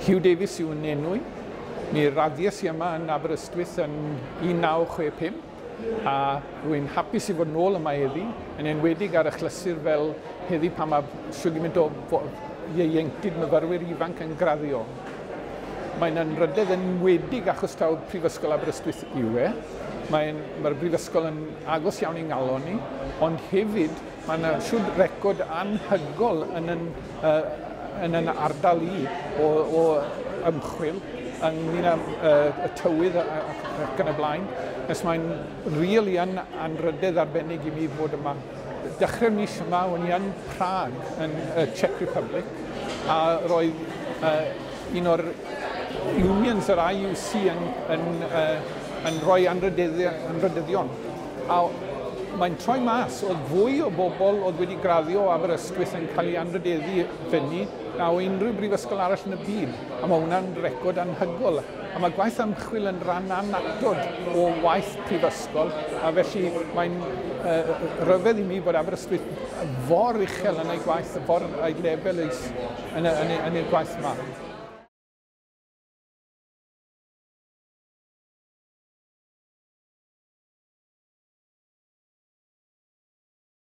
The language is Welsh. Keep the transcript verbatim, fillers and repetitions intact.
Huw Davies yw'n enw i. Mi raddies i yma yn Aberystwyth yn un naw chwe pump a rwy'n hapus i fod nôl yma heddi, yn enwedig ar achlysur fel heddi pan mae shwd gymaint o ieuenctid myfyrwyr ifanc yn graddio. Mae'n anrhydedd enwedig achos taw Prifysgol Aberystwyth yw e. Mae'n, mae'r brifysgol yn agos iawn i'n ngalon ni, ond hefyd mae yna siwd record anhygol yn yn, uh, yn yn ardal i o, o ymchwil ynglyn â uh, y tywydd ac yn y blaen. Nes mae'n rili yn anrhydedd arbennig i mi fod yma. Dechrau'r mis yma, o'n i yn Prague, yn y Czech Republic, a roedd uh, un o'r unions yr I U C yn, yn, uh, yn rhoi anrhydeddion. A mae'n troi mas, oedd fwy o bobl oedd wedi graddio o Aberystwyth yn cael ei anrhydeddu fyny na o unrhyw brifysgol arall yn y byd. A mae hwnna'n record anhygol. A mae gwaith ymchwil yn rhan annatod o waith prifysgol, a felly mae'n uh, rhyfedd i mi bod Aberystwyth for uchel yn ei gwaith, for ei lefel yn, yn, yn, yn ei gwaith yma.